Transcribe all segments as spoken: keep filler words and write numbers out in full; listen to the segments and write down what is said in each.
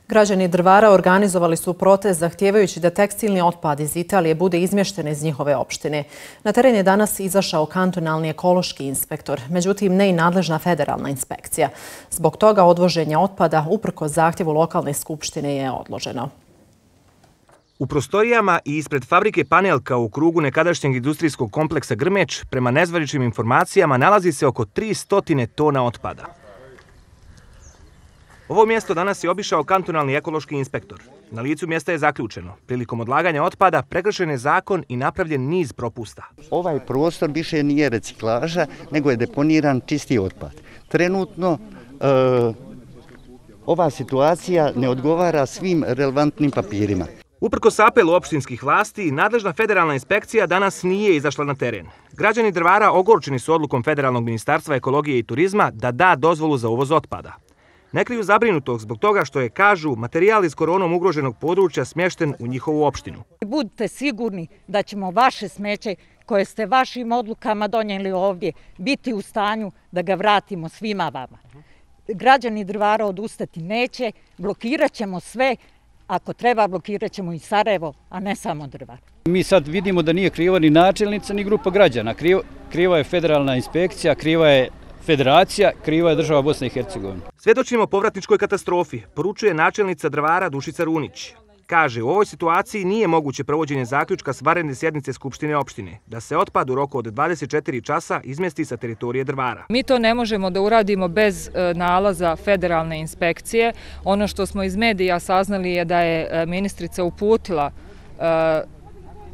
Građani Drvara organizovali su protest zahtijevajući da tekstilni otpad iz Italije bude izmješten iz njihove opštine. Na teren je danas izašao kantonalni ekološki inspektor, međutim ne i nadležna federalna inspekcija. Zbog toga odvoženje otpada uprkos zahtjevu lokalne skupštine je odloženo. U prostorijama i ispred fabrike Panelka u krugu nekadašnjeg industrijskog kompleksa Grmeć, prema nezvaničnim informacijama, nalazi se oko tristo tona otpada. Ovo mjesto danas je obišao kantonalni ekološki inspektor. Na licu mjesta je zaključeno. Prilikom odlaganja otpada prekršen je zakon i napravljen niz propusta. Ovaj prostor više nije reciklaža, nego je deponiran čisti otpad. Trenutno e, ova situacija ne odgovara svim relevantnim papirima. Uprkos apelu opštinskih vlasti, nadležna federalna inspekcija danas nije izašla na teren. Građani Drvara ogorčeni su odlukom Federalnog ministarstva ekologije i turizma da da dozvolu za uvoz otpada. Ne kriju zabrinutog zbog toga što je, kažu, materijal iz koronom ugroženog područja smješten u njihovu opštinu. Budite sigurni da ćemo vaše smeće koje ste vašim odlukama donijeli ovdje biti u stanju da ga vratimo svima vama. Građani Drvara odustati neće, blokirat ćemo sve. Ako treba, blokirat ćemo i Sarajevo, a ne samo Drvar. Mi sad vidimo da nije kriva ni načelnica, ni grupa građana. Kriva je federalna inspekcija, kriva je federacija, kriva je država Bosne i Hercegovine. Svjedočimo povratničkoj katastrofi, poručuje načelnica Drvara Dušica Runić. Kaže, u ovoj situaciji nije moguće provođenje zaključka s vanredne sjednice Skupštine opštine, da se otpad u roku od dvadeset četiri časa izmjesti sa teritorije Drvara. Mi to ne možemo da uradimo bez nalaza federalne inspekcije. Ono što smo iz medija saznali je da je ministrica uputila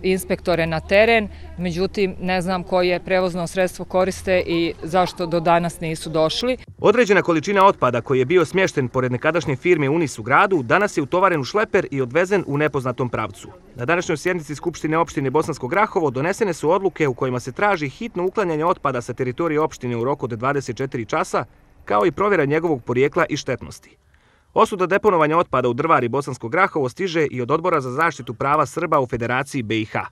inspektore na teren, međutim ne znam koje prevozno sredstvo koriste i zašto do danas nisu došli. Određena količina otpada koji je bio smješten pored nekadašnje firme Unis u gradu danas je utovaren u šleper i odvezen u nepoznatom pravcu. Na današnjoj sjednici Skupštine opštine Bosansko Grahovo donesene su odluke u kojima se traži hitno uklanjanje otpada sa teritorije opštine u roku od dvadeset četiri časa, kao i provjera njegovog porijekla i štetnosti. Osuda deponovanja otpada u Drvar i Bosansko Grahovo stiže i od Odbora za zaštitu prava Srba u Federaciji B i H.